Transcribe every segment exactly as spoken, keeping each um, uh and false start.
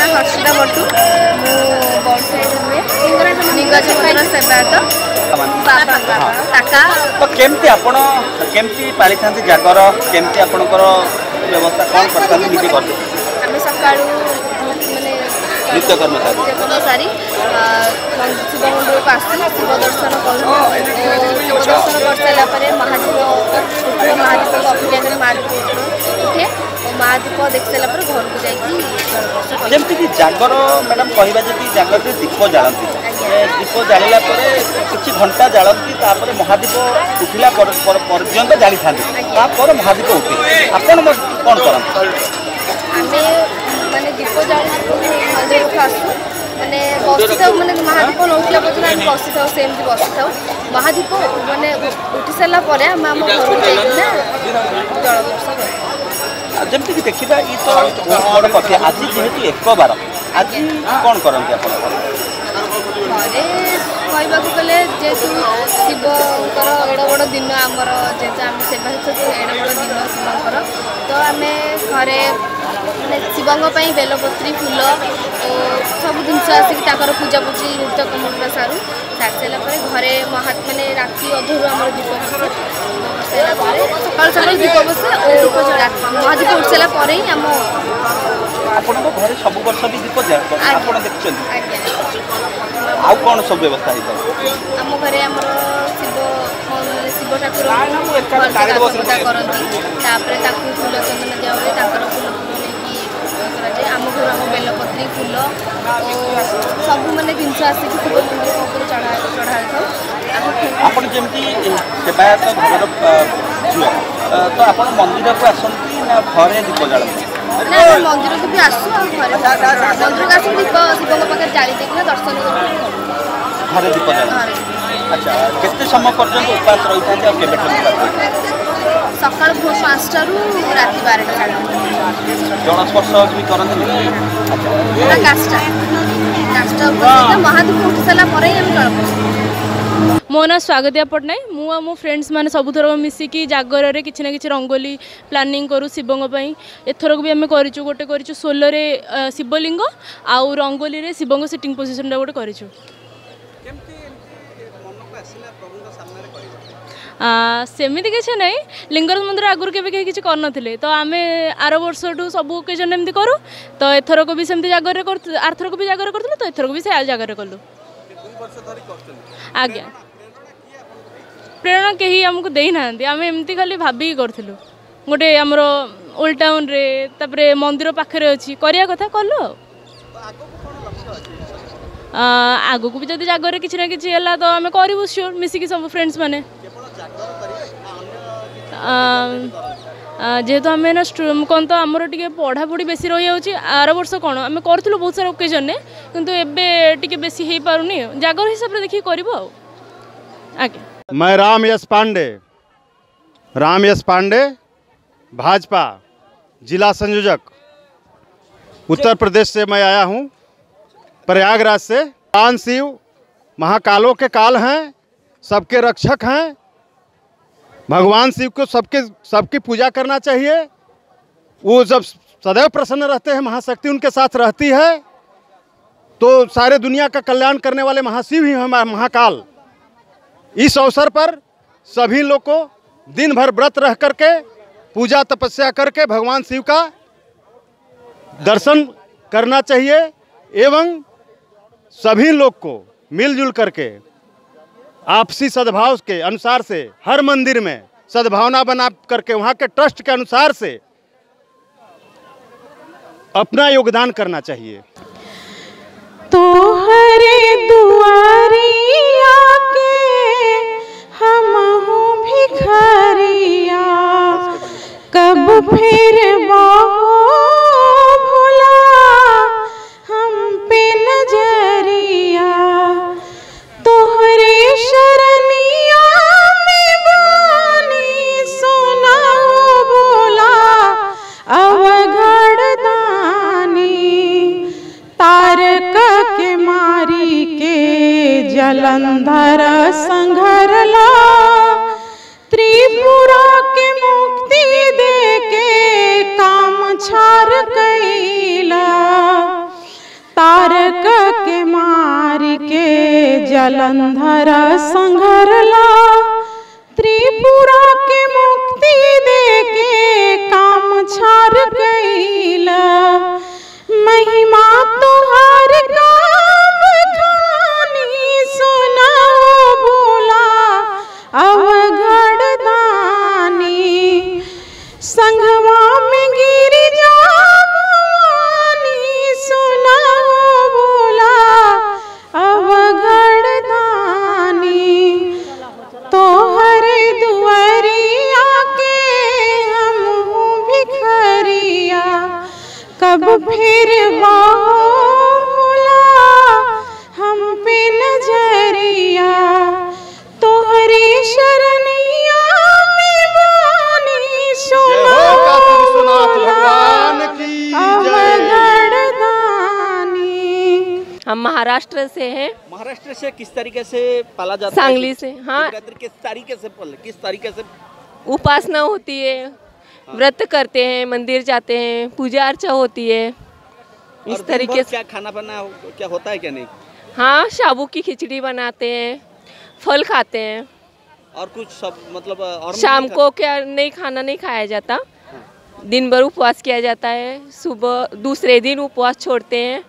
ନାଁ ହର୍ଷିତା ବଟୁ। ମୁଁ ବଡ଼ସାହିରେ ରୁହେ, ଲିଙ୍ଗରାଜ ମନ୍ଦିର ସେବାୟତ, ବାବା କାକା। ତ କେମିତି ଆପଣ କେମିତି ପାଳିଥାନ୍ତି ଜାଗର? କେମିତି ଆପଣଙ୍କର ବ୍ୟବସ୍ଥା କ'ଣ କରିଥାନ୍ତି ନିଜେ ଘରେ? ଆମେ ସକାଳୁ ମାନେ ନିତ୍ୟକର୍ମ ସାରି ନିତ୍ୟକର୍ମ ସାରି ଶିବ ମନ୍ଦିରକୁ ଆସୁ, ଶିବ ଦର୍ଶନ କରୁ। ଶିବ ଦର୍ଶନ କରିସାରିଲା ପରେ ମହାଦୀପ ଉଠିବ, ମହାଦୀପକୁ ଅପେକ୍ଷା କରି ମହାଦୀପ ଉଠେ ଓ ମହାଦୀପ ଦେଖି ସାରିଲା ପରେ ଘରକୁ ଯାଇକି ଜଳସ୍ପର୍ଶ କରୁ। ଯେମିତିକି ଜାଗର ମ୍ୟାଡ଼ାମ୍ କହିବା ଯଦି ଜାଗରରେ ଦୀପ ଜାଳନ୍ତି, ଏ ଦୀପ ଜାଳିଲା ପରେ କିଛି ଘଣ୍ଟା ଜାଳନ୍ତି, ତାପରେ ମହାଦୀପ ଉଠିଲା ପର୍ଯ୍ୟନ୍ତ ଜାଳିଥାନ୍ତି, ତାପରେ ମହାଦୀପ ଉଠେ। ଆପଣ କ'ଣ କରନ୍ତି? ଆମେ ମାନେ ଦୀପ ଜାଳି ମନ୍ଦିରକୁ ଆସୁ, ମାନେ ବସିଥାଉ, ମାନେ ମହାଦୀପ ନ ଉଠିଲା ପର୍ଯ୍ୟନ୍ତ ଆମେ ବସିଥାଉ, ସେମିତି ବସିଥାଉ। ମହାଦୀପ ମାନେ ଉଠି ସାରିଲା ପରେ ଆମେ ଆମ ଘରକୁ ଯାଇକିନା ଜଳସ୍ପର୍ଶ କରୁ। ଯେମିତିକି ଦେଖିବା ଇଏ ତ ବହୁତ ବଡ଼ କଥା। ଆଜି ଯେହେତୁ ଏକ ବାର, ଆଜି କ'ଣ କରନ୍ତି ଆପଣ ଘରେ? କହିବାକୁ ଗଲେ ଯେହେତୁ ଶିବଙ୍କର ଏଡ଼େ ବଡ଼ ଦିନ ଆମର, ଯେହେତୁ ଆମେ ସେବାୟତ, ଏଡ଼େ ବଡ଼ ଦିନ ଶିବଙ୍କର, ତ ଆମେ ଘରେ ମାନେ ଶିବଙ୍କ ପାଇଁ ବେଲପତ୍ରୀ, ଫୁଲ ଓ ସବୁ ଜିନିଷ ଆସିକି ତାଙ୍କର ପୂଜାପୂଜି ନୃତ୍ୟକର୍ମ ପୁରା ସାରୁ। ସାରି ସାରିଲା ପରେ ଘରେ ମହା ମାନେ ରାତି ଅଧରୁ ଆମର ଦୀପ ବସେ। ଦୀପ ବସାଇଲା ପରେ ସକାଳୁ ସକାଳୁ ଦୀପ ବସେ ଓ ମହାଦୀପ ଉଠି ସାରିଲା ପରେ ହିଁ ଆମ ଆପଣଙ୍କ ଘରେ ସବୁ ବର୍ଷ ବି ଦୀପ ଆପଣ ଦେଖିଛନ୍ତି? ଆଜ୍ଞା। ଆଉ କ'ଣ ସବୁ ବ୍ୟବସ୍ଥା ହେଇଥାଏ? ଆମ ଘରେ ଆମର ଶିବ ମାନେ ଶିବ ଠାକୁର ପୂଜା କରନ୍ତି, ତାପରେ ତାକୁ ଫୁଲ ଚନ୍ଦନ ଦିଆ ହୁଏ, ତାଙ୍କର ଫୁଲ ଫୁଲ ନେଇକି କରାଯାଏ। ଆମ ଘରୁ ଆମ ବେଲପତ୍ରୀ, ଫୁଲ ଓ ସବୁ ମାନେ ଜିନିଷ ଆସିକି ଶିବ ମନ୍ଦିର ଉପରେ ଚଢ଼ା ଚଢ଼ା ହୋଇଥାଉ। ଆପଣ ଯେମିତି ସେବାୟତ ଘରର ଝିଅ, ତ ଆପଣ ମନ୍ଦିରକୁ ଆସନ୍ତି ନା ଘରେ ଦୀପ ଜାଳନ୍ତି? ନା, ଆମେ ମନ୍ଦିରକୁ ବି ଆସୁ ଆଉ ଘରେ। ମନ୍ଦିରକୁ ଆସିକି ଦୀପ ଶିବଙ୍କ ପାଖରେ ଜାଳି ଦେଇକିନା ଦର୍ଶନ କରିକି ଘରେ ଦୀପ ଜାଳନ୍ତି। ଆଚ୍ଛା, କେତେ ସମୟ ପର୍ଯ୍ୟନ୍ତ ଉପାସ ରହିଥାନ୍ତି ଆଉ କେବେଠାରୁ ଉପାସ ରହିଥାନ୍ତି? ସକାଳୁ ଭୋର ପାଞ୍ଚଟାରୁ ରାତି ବାରଟା ସାଢ଼େ। ଜଳସ୍ପର୍ଶ ବି କରନ୍ତିନି? ଆଚ୍ଛା, କାଷ୍ଟା କାଷ୍ଟା ଉପାସ ମହାଦୀପ ଉଠି ସାରିଲା ପରେ ହିଁ ଆମେ ଜଳସ୍ପର୍ଶ। ମୋ ନାଁ ସ୍ୱାଗତିଆ ପଟ୍ଟନାୟକ। ମୁଁ ଆଉ ମୋ ଫ୍ରେଣ୍ଡସ୍ ମାନେ ସବୁଥର ମିଶିକି ଜାଗରରେ କିଛି ନା କିଛି ରଙ୍ଗୋଲି ପ୍ଲାନିଂ କରୁ ଶିବଙ୍କ ପାଇଁ। ଏଥରକ ବି ଆମେ କରିଛୁ, ଗୋଟେ କରିଛୁ ସୋଲରେ ଶିବଲିଙ୍ଗ ଆଉ ରଙ୍ଗୋଲିରେ ଶିବଙ୍କ ସିଟିଂ ପୋଜିସନଟା ଗୋଟେ କରିଛୁ। ସେମିତି କିଛି ନାହିଁ, ଲିଙ୍ଗରାଜ ମନ୍ଦିର ଆଗରୁ କେବେ କେହି କିଛି କରିନଥିଲେ, ତ ଆମେ ଆର ବର୍ଷଠୁ ସବୁ ଓକେଜନ୍ ଏମିତି କରୁ, ତ ଏଥରକ ବି ସେମିତି ଜାଗରରେ କରୁଥିଲୁ। ଆରଥରକ ବି ଜାଗରରେ କରୁଥିଲୁ, ତ ଏଥରକ ବି ସେ ଜାଗରରେ କଲୁ। ଆଜ୍ଞା, ପ୍ରେରଣା କେହି ଆମକୁ ଦେଇନାହାନ୍ତି, ଆମେ ଏମିତି ଖାଲି ଭାବିକି କରିଥିଲୁ। ଗୋଟେ ଆମର ଓଲ୍ଡ ଟାଉନରେ, ତାପରେ ମନ୍ଦିର ପାଖରେ ଅଛି, କରିବା କଥା କଲୁ। ଆଉ ଆଗକୁ ବି ଯଦି ଜାଗରରେ କିଛି ନା କିଛି ହେଲା ତ ଆମେ କରିବୁ ସିଓର, ମିଶିକି ସବୁ ଫ୍ରେଣ୍ଡସ୍ ମାନେ। ଯେହେତୁ ଆମେ ନା କ'ଣ ତ ଆମର ଟିକେ ପଢ଼ାପଢ଼ି ବେଶୀ ରହିଯାଉଛି। ଆର ବର୍ଷ କ'ଣ ଆମେ କରୁଥିଲୁ ବହୁତ ସାରା ଓକେଜନ୍ରେ, କିନ୍ତୁ ଏବେ ଟିକେ ବେଶୀ ହେଇପାରୁନି। ଜାଗର ହିସାବରେ ଦେଖିକି କରିବୁ ଆଉ। ଆଜ୍ଞା। मैं राम यश पांडे, राम यश पांडे, भाजपा जिला संयोजक, उत्तर प्रदेश से मैं आया हूँ, प्रयागराज से। भगवान शिव महाकालों के काल हैं, सबके रक्षक हैं। भगवान शिव को सबके सबकी पूजा करना चाहिए। वो जब सदैव प्रसन्न रहते हैं, महाशक्ति उनके साथ रहती है, तो सारे दुनिया का कल्याण करने वाले महाशिव ही हैं महाकाल। इस अवसर पर सभी लोग को दिन भर व्रत रह करके पूजा तपस्या करके भगवान शिव का दर्शन करना चाहिए एवं सभी लोग को मिलजुल करके आपसी सद्भाव के अनुसार से हर मंदिर में सद्भावना बना करके वहाँ के ट्रस्ट के अनुसार से अपना योगदान करना चाहिए। तो हरे दुआरिया के हम हूँ भिखारिया, कब फिर भोला हम पे नजरिया, तोहरे शरणिया में बानी सुना बोला अवघड़ दानी, तारक के मारी के जलंधर संघरला, त्रिपुरा के मुक्ति दे के काम छार कैला। जलंधर संघरला, त्रिपुरा के मुक्ति दे के काम छार कैला। महिमा तोहार काम खानी सुना बोला अवघड़ दानी, संघवा में गिरिजा भवानी सुना बोला अवघड़ दानी। तोहरे दुआरिया के हम भिखरिया, कब फिर बोला हम पे नजरिया। तोहरे शरणिया में वानी सुना भगवान की अवघड़ दानी। हम महाराष्ट्र से हैं। महाराष्ट्र से किस तरीके से पाला जाता है? सांगली से। हाँ, शिवरात्रि किस तरीके से पल किस तरीके से उपासना होती है, व्रत करते हैं, मंदिर जाते हैं, पूजा अर्चा होती है। और इस दिन तरीके भर से क्या खाना बना क्या होता है क्या नहीं? हाँ, साबू की खिचड़ी बनाते हैं, फल खाते हैं और कुछ सब मतलब और शाम को क्या नहीं खाना नहीं खाया जाता। दिन भर उपवास किया जाता है, सुबह दूसरे दिन उपवास छोड़ते हैं।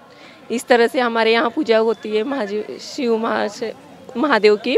इस तरह से हमारे यहाँ पूजा होती है महाजी शिव महाशय महादेव की।